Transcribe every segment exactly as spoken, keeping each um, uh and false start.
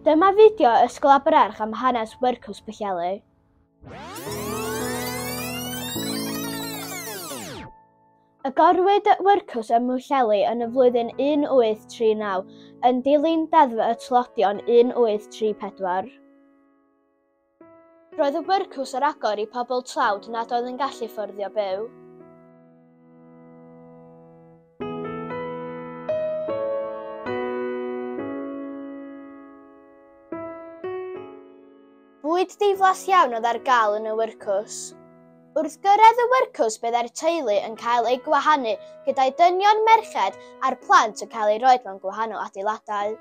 Dyma fideo Ysgol Abererch am hanes Wyrcws Pwllheli. Agorwyd Wyrcws ym Mhwllheli yn y flwyddyn un wyth tri naw yn dilyn Deddf y Tlodion un wyth tri pedwar. Roedd y wyrcws ar agor i pobl tlawd nad oedd yn gallu fforddio byw. Bwyd diflas iawn oedd ar gael yn y wyrcws. Wrth gyrraedd y wyrcws byddai'r teulu yn cael eu gwahanu gyda'i dynion merched a'r plant yn cael eu rhoi mewn gwahanol adeiladau.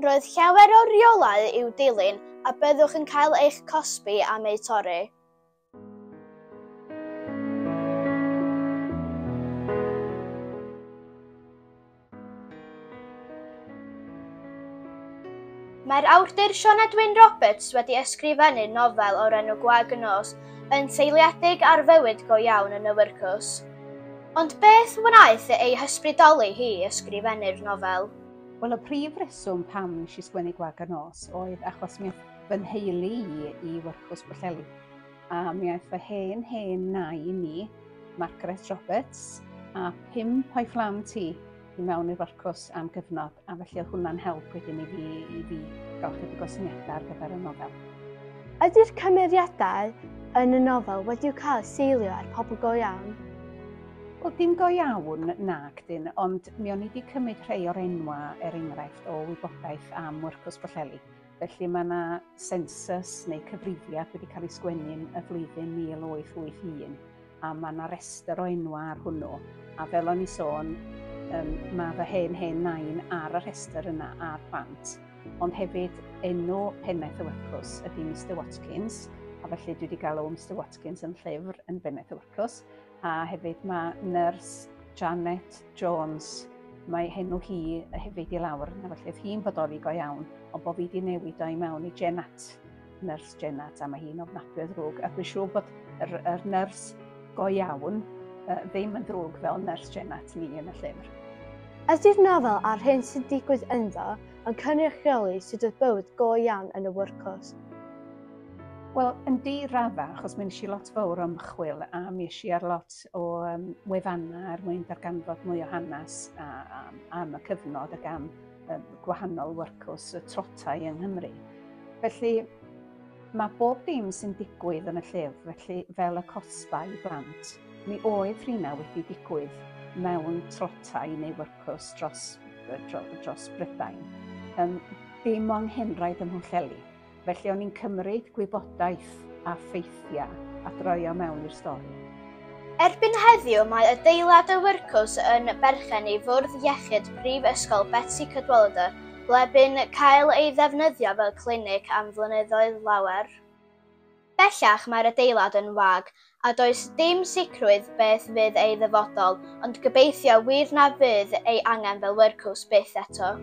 Roedd llawer o reolau i'w dilyn a byddwch yn cael eich cosbi am eu torri. Mae'r awdur Sioned Wyn Roberts wedi ysgrifennu nofel o'r enw Gwag y Nos yn seiliedig ar fywyd go iawn yn y wyrcws. Ond beth wnaeth ei hysbrydoli hi i ysgrifennu'r nofel? Wel, y prif reswm pam nes i sgwennu Gwag y Nos oedd achos mi aeth fy nheulu i i Wyrcws Pwllheli. A mi aeth fy hen hen nai i mi, Margaret Roberts, a pump o'i phlant hi i mewn i'r wyrcws am gyfnod, a felly oedd hwnna'n help wedyn i fi, i fi gael chydig o syniadau ar gyfer y nofel. Ydy'r cymeriadau yn y nofel wedi'u cael seilio ar pobl go iawn? Wel, dim go iawn nag dyn, ond mi o'n i wedi cymryd rhai o'r enwa, er enghraifft, o wybodaeth am Wyrcws Pwllheli. Felly mae yna census neu cyfrifiad wedi cael ei sgwennu yn y flwyddyn mil wyth wyth un, a mae yna restr o enwa ar hwnnw. A fel o'n i sôn, um, mae fy hen hen nain ar y rhestr yna a'r plant. Ond hefyd enw pennaeth y wyrcws ydy Mister Watkins, a felly dwi wedi galw Mister Watkins yn llyfr yn bennaeth y wyrcws. A hefyd mae nyrs Janet Jones, mae henw hi hefyd i lawr, a felly oedd hi'n bodoli go iawn, ond bod fi wedi newid o i mewn i Jenat, nyrs Jenat, a mae hi'n ofnadwy o ddrwg. A dwi'n siŵr bod yr, yr nyrs go iawn uh, ddim yn ddrwg fel nyrs Jenat ni yn y llyfr. Ydy'r nofel a'r hyn sy'n digwydd ynddo yn cynrychioli sut oedd bywyd go iawn yn y wyrcws? Wel, yn di radda, achos mi nes i lot fawr o ymchwil a mi es i ar lot o um, wefannau er mwyn darganfod mwy o hanes a, a, am y cyfnod ac am um, gwahanol wyrcws y trotau yng Nghymru. Felly, mae bob dim sy'n digwydd yn y llyfr, felly fel y cosbau i blant, mi oedd rhina wedi digwydd mewn trotau neu wyrcws dros, dros, dros Brydain. Um, dim o anghenraid ym Mhwllheli. Felly o'n i'n cymryd gwybodaeth a ffeithiau a droio mewn i'r stori. Erbyn heddiw mae adeilad y wyrcws yn berchen i Fwrdd Iechyd Prifysgol Betsi Cadwaladr, ble bu'n cael ei ddefnyddio fel clinig am flynyddoedd lawer. Bellach mae'r adeilad yn wag, a does dim sicrwydd beth fydd ei ddyfodol, ond gobeithio wir na fydd ei angen fel wyrcws byth eto.